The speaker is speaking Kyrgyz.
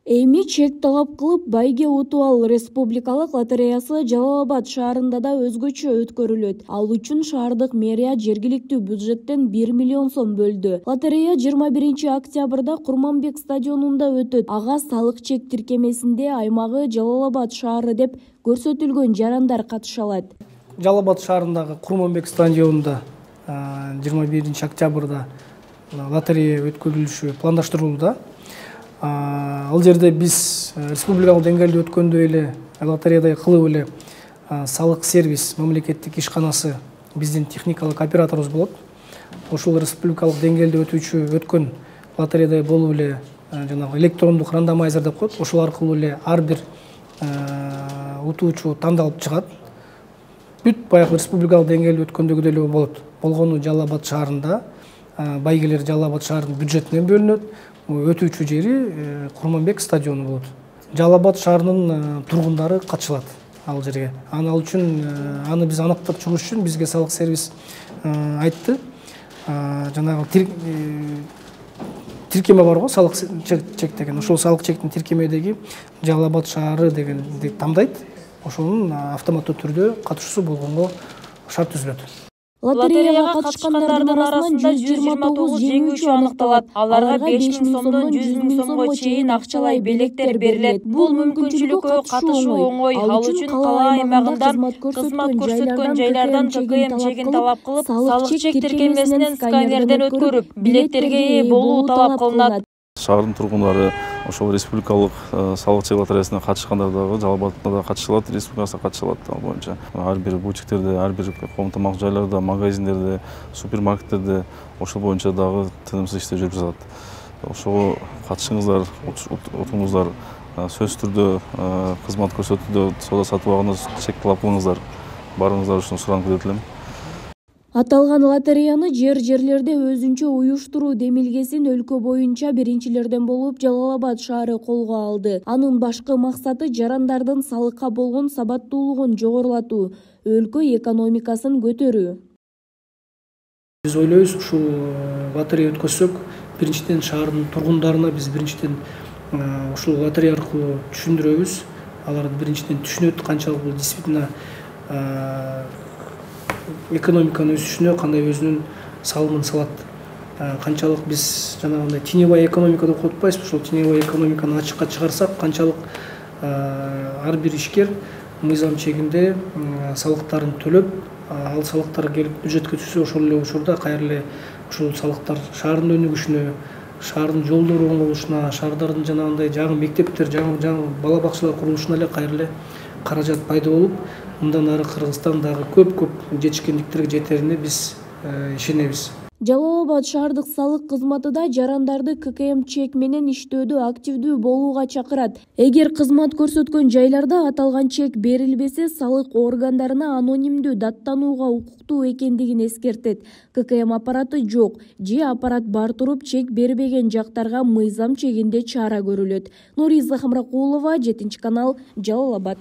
Эми чек талап кылып байге утуп ал республикалык лотереясы Жалал Абад шаарында да өзгөчө өткөрүлөт. Ал үчүн шаардык мэрия жергиликтүү бюджеттен 1 миллион сом бөлдү. Лотерея 21 октябрда Курманбек стадионунда өтөт. Ага салык чек тиркемесинде аймагы Жалал Абад шаары деп көрсөтүлгөн жарандар катыша алат. Жалал Абад шаарындагы Курманбек стадионунда 21 октябрда лотерея өткөрүлүшү пландаштырылууда. Ал жерде биз республикалык деңгээлде өткөндөй эле лотереядай кылып эле салык сервис мамлекеттик ишканасы биздин техникалык операторубуз болот. Ошол республикалык деңгээлде өткөн лотереядай болуп эле жанагы электрондук рандомайзер деп коет. Ошол аркылуу эле ар бир утуучу тандалып чыгат. Бүт баягы республикалык деңгээлде өткөндөгүдөй эле болот. Болгону Жалал Абад шаарында байгелер Жалал Абад шаарынын бюджетинен бөлүнөт. Өтүүчү жери Курманбек стадиону болот. Жалал Абад шаарынын тургундары катышылат ал жерге. Ал үчүн аны биз аныктап чыгыш үчүн бизге салык сервис айтты. Жанагы тиркеме бар го, салык чек деген. Ошол салык чектин тиркемедеги Жалал Абад шаары дегенди тандайт. Ошонун автоматтуу түрдө катышуусу болгонго шарт түзүлөт. Лотереяга катышкандардын арасынан 129 жеңүүчү аныкталат. Аларга 5 000 сомдон 100 000 сомго чейин акчалай белектер берилет. Бул мүмкүнчүлүккө катышуу оңой. Ал үчүн кала аймагында кызмат көрсөткөн жайлардан ККМ чегин талап кылып, салык чек тиркемесинен сканерден өткөрүп, билеттерге ээ болуу талап кылынат. Шаардын тургундары ошол республикалык салык чек лотереясына катышкандар дагы Жалал Абадта да катышылат, республикасына катышылат. Ал боюнча ар бир бутиктерде, ар бир коом тамак жайларда, магазиндерде, супермаркеттерде ошол боюнча дагы тынымсыз иштер жүрүп жатат. Ошого катышыңыздар, утуңуздар, сөзсүз түрдө кызмат көрсөтүүдө соода сатып алганда чек талап кылыңыздар. Барыңыздар үчүн суранып кетелим. Аталган лотереяны жерлерде өзүнчө уюштуруу демилгесин өлкө боюнча биринчилерден болуп Жалал Абад шаары колго алды. Анын башкы максаты жарандардын салыкка болгон сабаттуулугун жогорулатуу, өлкө экономикасын көтөрүү. Биз ойлойбуз, ушул лотерея өткөзсөк, биринчиден шаардын тургундарына биз биринчиден ушул лотерея аркылуу түшүндүрөбүз. Алар биринчиден түшүнөт канчалык бул действительно экономиканын өсүшүнө кандай өзүнүн салымын салат. Канчалык биз жанагындай теневая экономика деп коюп атпайбызбы? Ошол теневая экономиканы ачыкка чыгарсак, канчалык ар бир ишкер мыйзам чегинде салыктарын төлөп, ал салыктар келип бюджетке түшсө, ошол эле учурда кайра эле ушул салыктар шаардын өнүгүшүнө, шаардын жолдору оңолушуна, шаардардын жанагындай жаңы мектептер, жаңы бала бакчалар курулушуна эле кайра эле каражат пайда болуп, мындан ары Кыргызстан дагы көп жетишкендиктерге жетерине биз ишенебиз. Жалал Абад шаардык салык кызматы да жарандарды ККМ чек менен иштөөдө активдүү болууга чакырат. Эгер кызмат көрсөткөн жайларда аталган чек берилбесе, салык органдарына анонимдүү даттанууга укуктуу экендигин эскертет. ККМ аппараты жок же аппарат бар туруп чек бербеген жактарга мыйзам чегинде чара көрүлөт. Нуриза Хамракулова, 7 канал, Жалал Абад.